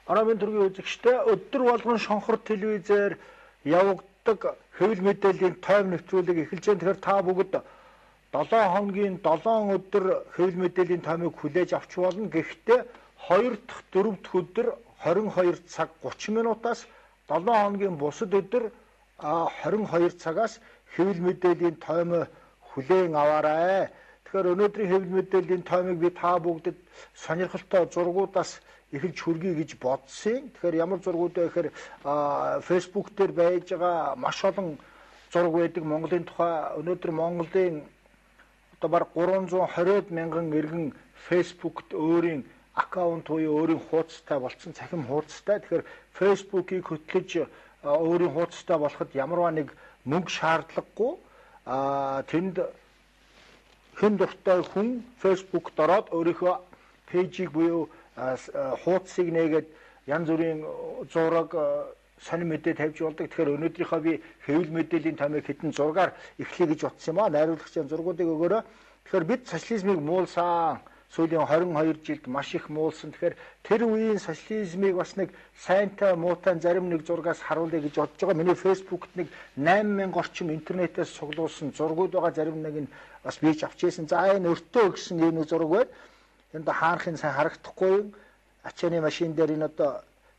Арамын төргийн үзэгчтэй өдөр болгон шонхор телевизээр явагддаг хэвлэл мэдээллийн тойм нэвтрүүлэг эхэлж байна. Тэгэхээр та бүгд 7 хоногийн 7 өдөр хэвлэл мэдээллийн тоймыг хүлээж авч болно. Гэхдээ 2 дахь 4 дахь өдөр 22 цаг 30 минутаас 7 хоногийн бусад өдөр 22 цагаас хэвлэл мэдээллийн тоймоо хүлээн аваарай. Тэгэхээр өнөөдрийн хэвлэл мэдээллийн тоймыг би та бүгдэд сонирхолтой зургуудаас эхэлж хүргэе гэж бодсон. Тэгэхээр ямар зургууд вэ гэхээр Facebook дээр байж байгаа маш олон зураг байдаг Монголын тухай. Өнөөдөр Монголын одоо баг 320 мянган иргэн Facebook-т өөрийн аккаунт буюу өөрийн хуудастай болсон, цахим хуудастай. Тэгэхээр Facebook-ийг хөтлөж өөрийн хуудастай болоход ямарваа нэг мөнгө шаардлагагүй. Тэнд хэн дуртай хүн Facebook-д ороод өөрийнхөө пэйжийг буюу хуудсыг нээгээд янз бүрийн зураг сонир мэдээ тавьж болдог. Тэгэхээр өнөөдрийнхөө би хэвлэл мэдээллийн томыг хэдэн зургаар эхлэе гэж утсан юм аа. Найруулагчийн зургуудыг өгөөрэй. Тэгэхээр бид социализмыг муулсан. Сүүлийн 22 жилд маш их муулсан. Тэгэхээр тэр үеийн социализмыг бас нэг сайнтай муутай зарим нэг зургаас харуулъя гэж бодож байгаа. Миний Facebook-т нэг 8000 орчим интернетээс цуглуулсан зургууд байгаа. Зарим нэг нь бас бийж авчихсан. За энэ өртөө гэсэн ийм нэг зураг байна. Энд хаанхын сайн харагдахгүй. Ачааны машин дээр энэ одоо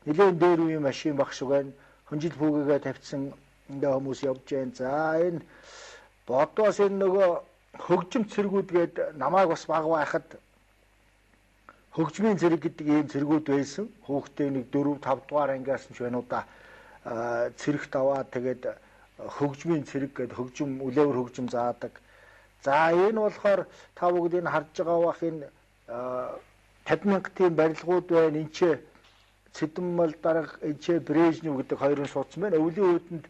нэлээд дээр үеийн машин баг шиг байна. Хөнжил бүгэгээ тавьсан ингээ хүмүүс явж байна. За энэ бодоос энэ нөгөө хөгжим цэргүүд гээд намайг бас баг байхад хөгжмийн цэрэг гэдэг ийм цэргүүд байсан. Хүүхдээ нэг 4 5 дугаар ангиас нь ч байна уу да. Цэрэгт аваад тэгээд хөгжмийн цэрэг гээд хөгжим үлээвэр хөгжим заадаг. За энэ болохоор та бүгд энэ харж байгаа бах энэ 50,000 тийм барилгууд байна. Энд ч Цэдэнмал дарга энд ч Брежнев гэдэг хоёрын суудсан байна. Өвлийн үүдэнд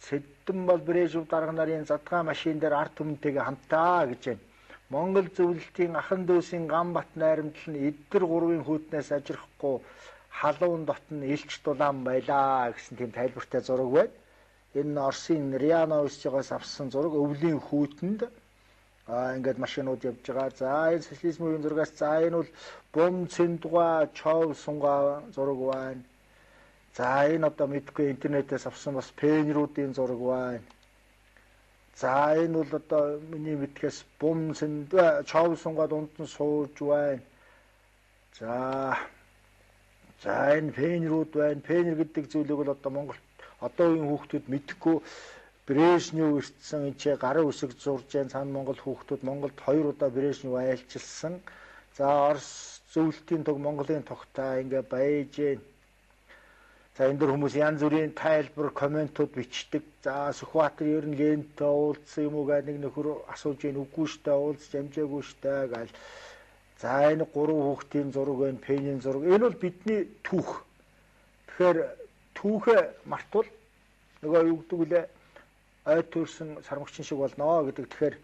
Цэдэнмал Брежнев дарга нарын задгаан машин дээр ард түмэнтэйгээ хамтаа гэж байна. Монгол зөвлөлтийн ахан дүүсийн Гамбат найрамдал нь эдгэр гурвын хүүтнээс ажирахгүй халуун дотн илч дулаан байлаа гэсэн тийм тайлбартай зураг байна. Энэ Оросын Риановичгоос авсан зураг өвлийн хүүтэнд ингээд машинууд явж байгаа. За энэ социализмын зургаас за энэ бол бом цэндуга чов сунга зураг байна. За энэ одоо мэдгүй интернетээс авсан бас пенруудын зураг байна. За энэ бол одоо миний мэдхээс бом цэндуга чов сунга дунд нь сууж байна. За энэ пенрууд байна. Пенер гэдэг зүйлийг бол одоо Монгол одоо үеийн хүүхдүүд мэдэхгүй. Брежнев ирсэн энэ гарын үсэг зурж जैन цаана Монгол хүүхдүүд Монголд 2 удаа Брежнев айлчилсан. За Орос зөвлөлтийн туг Монголын тогтаа ингээ байж जैन. За энэ дөр хүмүүс янз бүрийн тайлбар, комментууд бичдэг. За Сүхбаатар ер нь Лентэй уулзсан юм уу гэдэг нэг нөхөр асууж जैन үгүй штэ уулзч амжаагүй штэ гал. За энэ 3 хүүхдийн зураг байна, пенийн зураг. Энэ бол бидний түүх. Тэгэхээр түүхээ мартвал нөгөө юу гэдэг үлээ ой төрсөн сармагчин шиг болно гэдэг. Тэгэхээр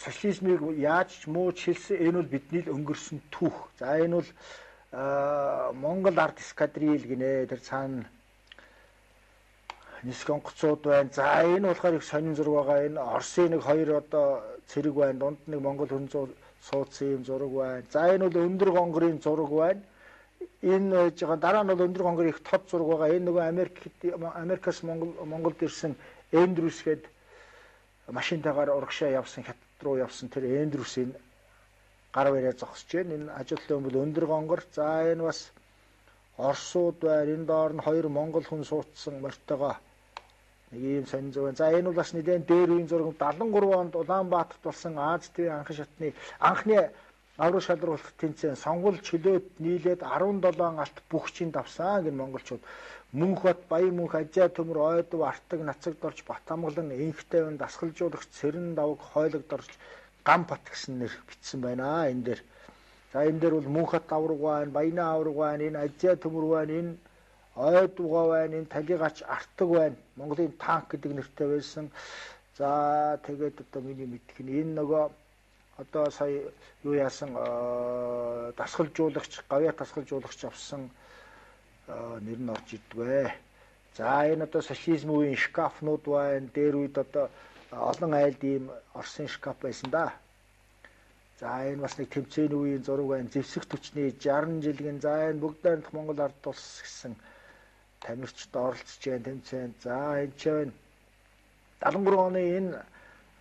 социализмыг яаж ч мууч хэлсэн энэ бол бидний л өнгөрсөн түүх. За энэ бол Монгол ард эскадрил гинэ. Тэр цаана нисэх онгоцууд байна. За энэ болохоор их сонин зураг байгаа. Энэ Оросын нэг 2 одоо цэрэг байна. Дунд нэг Монгол хүн суудсан юм зураг байна. За энэ бол өндөр гонгорын зураг байна. Энэ жоо дараа нь бол өндөр гонгор их тод зураг байгаа. Энэ нөгөө Америкаас Монголд ирсэн Эндрюс гээд машинтайгаар урагшаа явсан хят руу явсан тэр Эндрюсийн гар бариа зогсож байна. Энэ ажилтны бол өндөр гонгор. За энэ бас Оросууд байна. Энэ доор нь 2 монгол хүн суудсан мортойгоо нэг ийм сонин зураг. За энэ бол бас нэгэн дээр үеийн зураг. 73 онд Улаанбаатарт болсон Аз ТV анхан шатны анхны аврал шалралт тэнцэн сонгол чөлөөт нийлээд 17 алт бүгчийн давсан гэн монголчууд. Мөнхбат, Баян мөнх, Ажаа төмөр, Ойдов, Артаг, Нацагд орж, Батамгалан, Инхтэй байн, Дасгалжуулагч, Цэрэн давг, Хойлогд орж, Гамбат гэсэн нэр бичсэн байна энэ дээр. За энэ дээр бол Мөнхбат авраг байна, Баяны авраг байна, энэ Ажаа төмөр байна, энэ Ойдовгоо байна, энэ Талигач, Артаг байна. Монголын танк гэдэг нэртэй байсан. За тэгээд одоо миний мэдх нь энэ нөгөө одоо сая юу яасан дасгалжуулагч, гавьяа дасгалжуулагч авсан нэр нь орж ирдэг бай. За энэ одоо социализм үеийн шкафнууд байна. Дээр үед одоо олон айлд ийм Оросын шкаф байсан да. За энэ бас нэг тэмцээний үеийн зураг байна. Зэвсэг түвшний 60 жилийн за энэ бүгд найрамдах Монгол ард улс гэсэн тамирчид оролцож байгаа тэмцээнд. За энэ ч байна. 73 оны энэ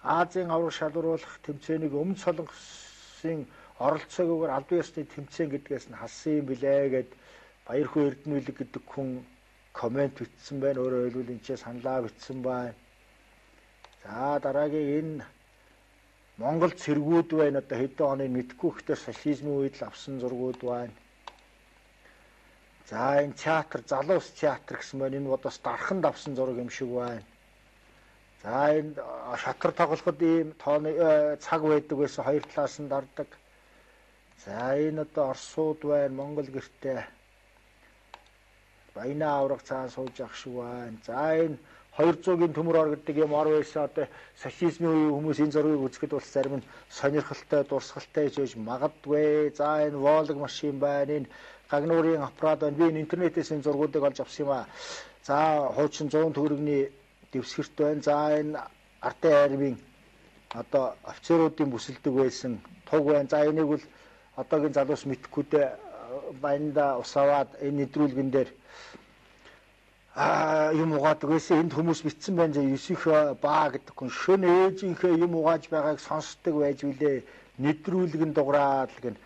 Азийн авраг шалгаруулах тэмцээнийг Өмнөд Солонгосын оролцоогоор албан ёсны тэмцээн гэдгээс нь халсан юм билээ гэд Баярхуу Эрдэнэлэг гэдэг хүн коммент бичсэн байна. Өөрөөр хэлбэл энэ ч саналаа бичсэн байна. За дараагийн энэ Монгол цэргүүд байна. Одоо хэдэн оны мэдгүй ихтэй социализмын үед л авсан зургууд байна. За энэ театр, залуус театр гэсэн байна. Энэ бодос дарханд авсан зураг юм шиг байна. За энэ шатар тоглоход ийм тооны цаг байдаг байсан, хоёр талаас нь дардаг. За энэ одоо Оросууд байна, Монгол гэртээ Баянаа авраг цаан сууж ах шиг байна. За энэ 200-ийн төмөр ор гэдэг юм ор байсан. Одоо социализмын үеийн хүмүүс энэ зургийг үзэхэд бол зарим нь сонирхолтой, дурсгалтай гэж магадгүй. За энэ Волг машин байна. Энэ Гагнуурын аппарат байна. Би энэ интернетээс энэ зургуудыг олж авсан юм аа. За хуучин 100 төгрөгийн дэвсгэрт байна. За энэ ардын армийн одоо офицеруудын бүсэлдэг байсан туг байна. За энийг бол одоогийн залуус мэдхгүйдээ баянда усаваад энэ нэвтрүүлгэн дээр юм угаадаг байсан. Энд хүмүүс битсэн байна. 9 баа гэдэг хүн шөнө ээжийнхээ юм угааж байгааг сонсдог байж билээ. Нэвтрүүлгэн дуграад л гэн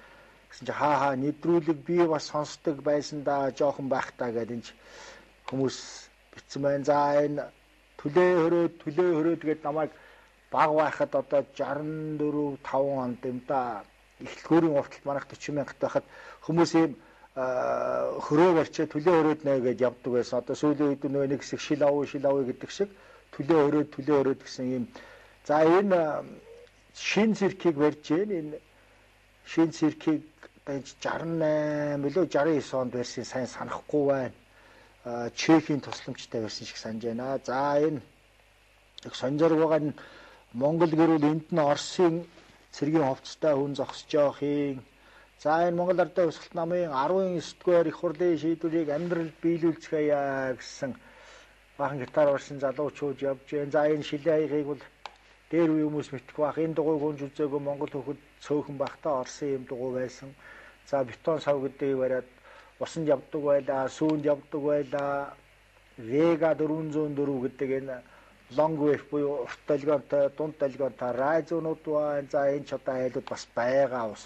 гэсэн чи хаа нэвтрүүлэг би бас сонсдог байсан да жоохон байхтаа гэдэг энэ хүмүүс битсэн байна. За энэ төлөө хөрөөд гэдэг намайг баг байхад одоо 64 5 онд юм да. Эхлэлгүүрийн урталт манайх 40 мянгат байхад хүмүүс ийм хөрөө барьчаа төлөө хөрөөд нэ гэж явдаг байсан. Одоо сүүлийн үед нөгөө нэг хэсэг шил авъя гэдэг шиг төлөө хөрөөд гэсэн ийм. За энэ шин циркийг барьж байна. Энэ шин циркийг 68 билүү 69 онд барьсан сайн санахгүй байна. Чехийн тусламжтай байсан шиг санаж байна. За энэ их сонжорг байгаа нь Монгол гэрүүл энд нь Оросын цэргийн хувцастай хүн зогсож явах юм. За энэ Монгол Ардын Хувьсгалт намын 19-р их хурлын шийдвэрийг амьдралд биелүүлцгээе гэсэн бахан гитар барьсан залуучууд явж байна. За энэ шилээ хаягийг бол дээр үе хүмүүс мэдэх бах. Энэ дугуйг хүнж үзээгүй Монгол хөхөд цөөхөн бахтаа Оросын юм дугуй байсан. За бетон сав гэдгийг бариад усанд явдаг байлаа, сүүнд явдаг байлаа. Vega 404 гэдэг энэ long wave буюу урт долгионтой, дунд долгионтой радионууд байна. За энэ ч одоо айлууд бас байгаа ус.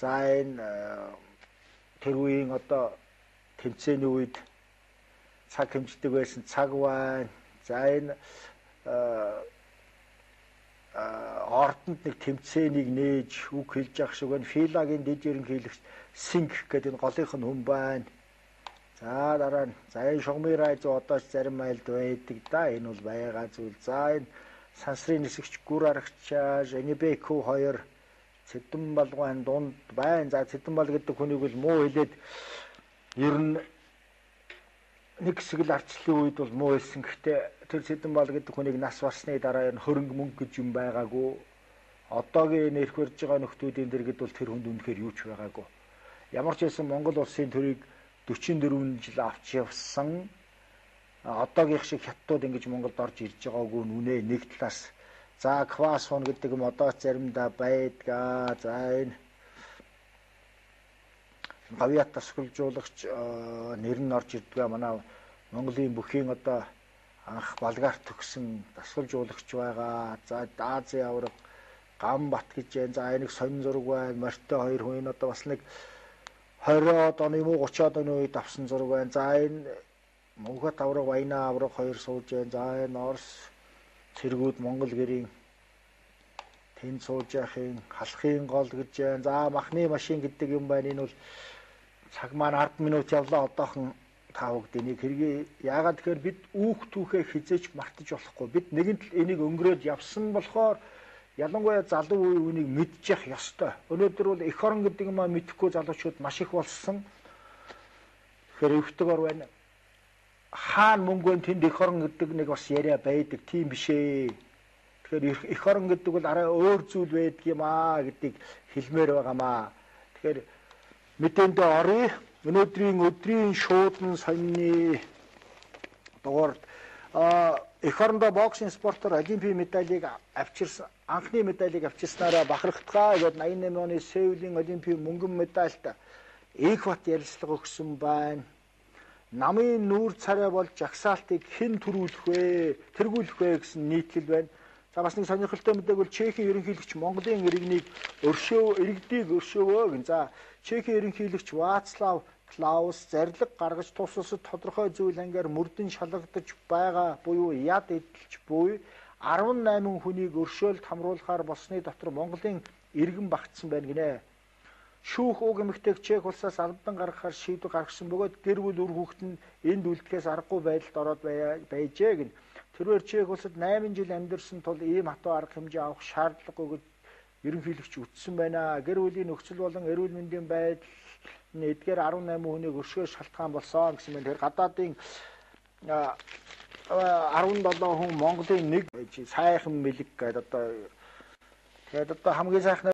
За энэ тэр үеийн одоо тэмцээний үед цаг хэмждэг байсан цаг байна. За энэ ордонд нэг тэмцээнийг нээж үг хэлж явах шиг байна. Филагийн дэд ерөнхийлөгч Синг гэдэг энэ голынх нь хүн байна. За дараа нь за энэ шугамын радио одоо ч зарим айлд байдаг да. Энэ бол байгаа зүйл. За энэ сансрын нисгч гүр аргач Энибеку 2 Цэдэн балгын дунд байна. За Цэдэн бал гэдэг хүнийг бол муу хэлээд ер нь нэг хэсэг л арчлалын үед бол муу хэлсэн. Гэхдээ тэр Цэдэн бал гэдэг хүнийг нас барсны дараа энэ хөрөнгө мөнгө гэж юм байгаагүй. Одоогийн энэ ирэх барьж байгаа нөхдүүдийн дэргэд бол тэр хүнд үнэхээр юу ч байгаагүй. Ямар ч байсан Монгол улсын төрийг 44 жил авч явсан. Одоогийнх шиг хятадууд ингэж Монголд орж ирж байгаагүй нүнэ нэг талаас. За Квасон гэдэг юм одоо заримдаа байдгаа. За энэ гавьяат тасгалжуулагч нэр нь орж ирдгээ манай Монголын бүхийн одоо анх Болгаарт төгсөн тасгалжуулагч байгаа. За Азийн авраг Гамбат гэж байна. За энийг сонин зураг байна. Морьтой 2 хүн одоо бас нэг 20-од оны юм уу 30-од оны үед авсан зураг байна. За энэ Мөнхбат авраг, Баянаа авраг 2 сууж байна. За энэ Орос цэргүүд Монгол гэрийн тэнд сууж яхин халахын гол гэж байна. За махны машин гэдэг юм байна. Энэ бол цаг маань 10 минут явлаа одоохон таавагд энийг хэрэг яагаад тэгэхээр бид үүх түүхээ хизээч мартаж болохгүй. Бид нэгэнт л энийг өнгөрөөд явсан болохоор ялангуяа залуу үеийг мэдчих ёстой. Өнөөдөр бол эх орон гэдэг юм мэдэхгүй залуучууд маш их болсон. Тэгэхээр өвтөг ор байна. Хаан мөнгөнд тэнд эх орон гэдэг нэг бас яриа байдаг. Тийм биш ээ. Тэгэхээр эх орон гэдэг бол арай өөр зүйл байдаг юм аа гэдгийг хэлмээр байгаамаа. Тэгэхээр мэдээндээ орё. Өнөөдрийн өдрийн шуудан сонины дугаар эх орондоо боксинг спортоор олимпийн медалийг авчирсан анхны медалийг авчирснараа бахархдгаа гээд 88 оны Сеулийн олимпийн мөнгөн медальт Экват ярилцлага өгсөн байна. Намын нүүр царай болж жагсаалтыг хэн төрүүлэх вэ? Тэргүүлэх вэ гэсэн нийтлэл байна. За бас нэг сонирхолтой мэдээг бол Чехийн ерөнхийлөгч Монголын иргэнийг өршөөвөө гэн. За Чехийн ерөнхийлөгч Вацлав Клаус зарлиг гаргаж тус улсад тодорхой зүйл ангиар мөрдөн шалгагдаж байгаа буюу яд эдэлж буй 18 хүнийг өршөөлт хамруулахаар болсны дотор Монголын иргэн багтсан байна гинэ. Шүүх уг эмэгтэйг Чех улсаас албан гаргахаар шийдвэр гаргасан бөгөөд гэр бүл үр хүүхэд нь энд үлдэхээс аргагүй байдалд ороод байжээ гэн. Тэрээр Чех улсад 8 жил амьдарсан тул ийм хатуу арга хэмжээ авах шаардлагагүй гэж ерөнхийлөгч үтсэн байна. Гэр бүлийн нөхцөл болон эрүүл мэндийн байдал эдгээр 18 хүнийг өршөөл шалтгаан болсон гэсэн мэт. Тэр гадаадын 17 хүн Монголын нэг сайхан мэлэг гэдэг одоо хамгийн сайхан